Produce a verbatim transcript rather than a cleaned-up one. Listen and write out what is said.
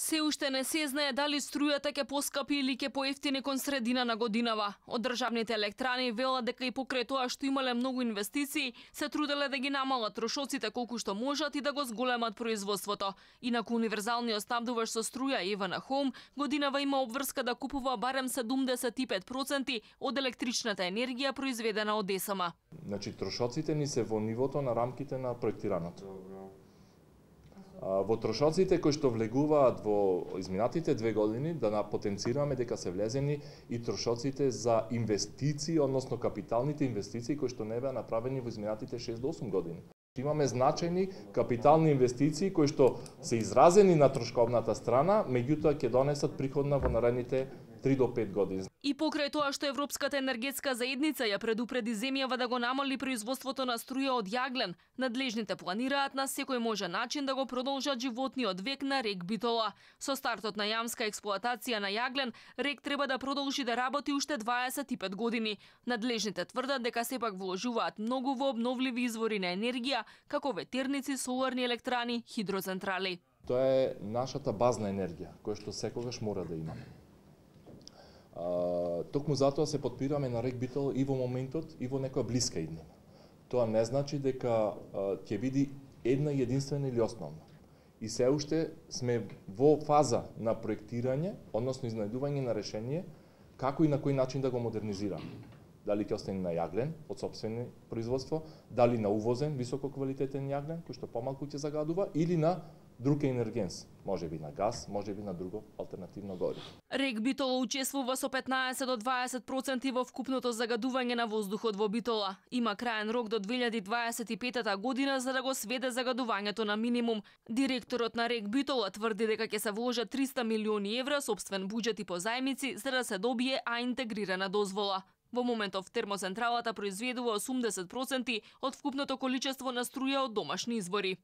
Се уште не се знае дали струјата ќе поскапи или ќе поевтини кон средина на годинава. Од државните електрани велат дека и покрај тоа што имале многу инвестиции, се труделе да ги намалат трошоците колку што можат и да го зголемат производството. Инаку универзалниот снабдуваш со струја Евана Хоум годинава има обврска да купува барем седумдесет и пет проценти од електричната енергија произведена од ЕСМ. Значи трошоците ни се во нивото на рамките на проектираното. Во трошоците кои што влегуваат во изминатите две години, да потенцираме дека се влезени и трошоците за инвестиции, односно капиталните инвестиции кои што не беа направени во изминатите шест до осум години. Имаме значајни капитални инвестиции кои што се изразени на трошковната страна, меѓутоа ќе донесат приходна во наредните три до пет години. И покрај тоа што Европската енергетска заедница ја предупреди земјава да го намали производството на струја од јаглен, надлежните планираат на секој можен начин да го продолжат животниот век на рек Битола. Со стартот на јамска експлоатација на јаглен, рек треба да продолжи да работи уште дваесет и пет години. Надлежните тврдат дека сепак вложуваат многу во обновливи извори на енергија, како ветерници, соларни електрани, хидроцентрали. Тоа е нашата базна енергија, која што секогаш мора да имаме. Uh, токму затоа се подпираме на рек Битола и во моментот и во некоја блиска иднина. Тоа не значи дека uh, ќе биде една единствена или основна. И се уште сме во фаза на проектирање, односно изнајдување на решение како и на кој начин да го модернизираме. Дали ќе остане на јаглен од сопствено производство, дали на увозен висококвалитетен јаглен кој што помалку ќе загадува, или на друг енергенс, можеби на газ, можеби на друго алтернативно гориво. Рек Битола учествува со петнаесет до дваесет проценти во вкупното загадување на воздухот во Битола. Има краен рок до две илјади дваесет и петта година за да го сведе загадувањето на минимум. Директорот на рек Битола тврди дека ќе се вложат триста милиони евра сопствен буџет и позајмици за да се добие А интегрирана дозвола. Во моментов термоцентралата произведува осумдесет проценти од вкупното количество на струја од домашни извори.